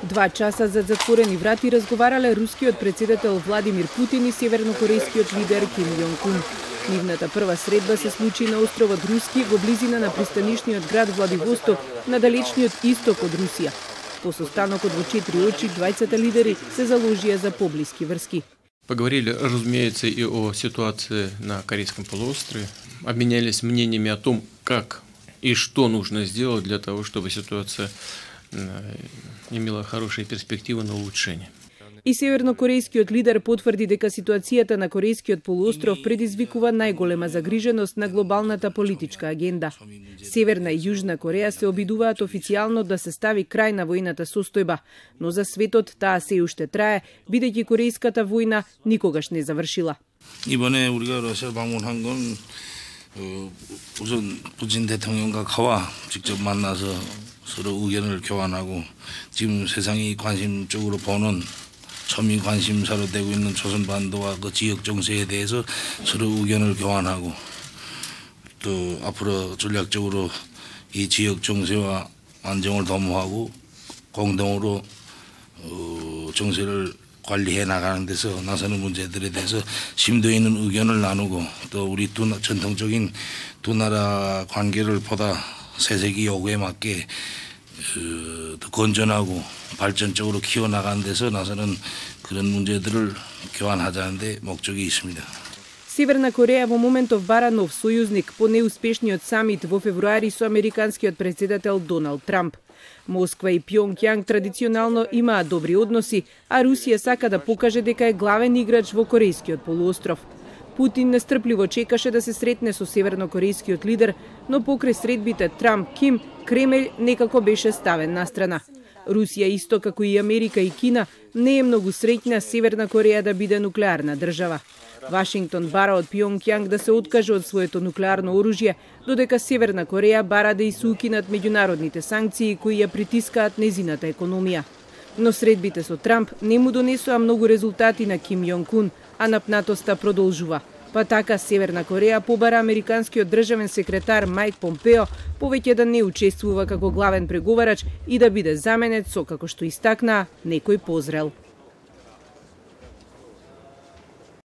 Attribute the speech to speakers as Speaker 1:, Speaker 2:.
Speaker 1: 2 часа за затворени врати разговарале рускиот председател Владимир Путин и севернокорејскиот лидер Ким Јонг Ун. Нивната прва средба се случи на островот Руски во близина на пристанишниот град Владивосток на далечниот исток од Русија. По состанокот во 4 очи двајцата лидери се заложија за поблиски врски.
Speaker 2: Поговорили, разумеется, и о ситуации на Корейском полуострове. Обменялись мнениями о том, как и что нужно сделать для того, чтобы ситуация имела хорошие перспективы на улучшение.
Speaker 1: И севернокорејскиот лидер потврди дека ситуацијата на Корејскиот полуостров предизвикува најголема загриженост на глобалната политичка агенда. Северна и Јужна Кореја се обидуваат официјално да се стави крај на војната состојба, но за светот таа се уште трае, бидејќи корејската војна никогаш не завршила.
Speaker 3: 이번에 우리가 러시아 방문한 건 우선 푸틴 대통령과 가와 직접 만나서 서로 의견을 교환하고 지금 세상이 관심적으로 보는 첨예 관심사로 되고 있는 조선반도와 그 지역 정세에 대해서 서로 의견을 교환하고 또 앞으로 전략적으로 이 지역 정세와 안정을 도모하고 공동으로 정세를 관리해 나가는 데서 나서는 문제들에 대해서 심도 있는 의견을 나누고 또 우리 전통적인 두 나라 관계를 보다 새세기 요구에 맞게 더 건전하고 발전적으로 키워나가는 데서 나서는 그런 문제들을 교환하자는 데 목적이 있습니다.
Speaker 1: Северна Кореја во моментов бара нов сојузник по неуспешниот самит во февруари со американскиот председател Доналд Трамп. Москва и Пјонгјанг традиционално имаат добри односи, а Русија сака да покаже дека е главен играч во Корејскиот полуостров. Путин нестрпливо чекаше да се сретне со севернокорејскиот лидер, но покрај средбите Трамп-Ким, Кремљ некако беше ставен настрана. Русија исто како и Америка и Кина не е многу среќна Северна Кореја да биде нуклеарна држава. Вашингтон бара од Пјонгјанг да се откаже од своето нуклеарно оружје, додека Северна Кореја бара да се укинат меѓународните санкции кои ја притискаат незината економија. Но средбите со Трамп не му донесоа многу резултати на Ким Јонг Ун, а напнатоста продолжува. Па така Северна Кореја побара американскиот државен секретар Мајк Помпео повеќе да не учествува како главен преговарач и да биде заменет со, како што истакнаа, некој позрел.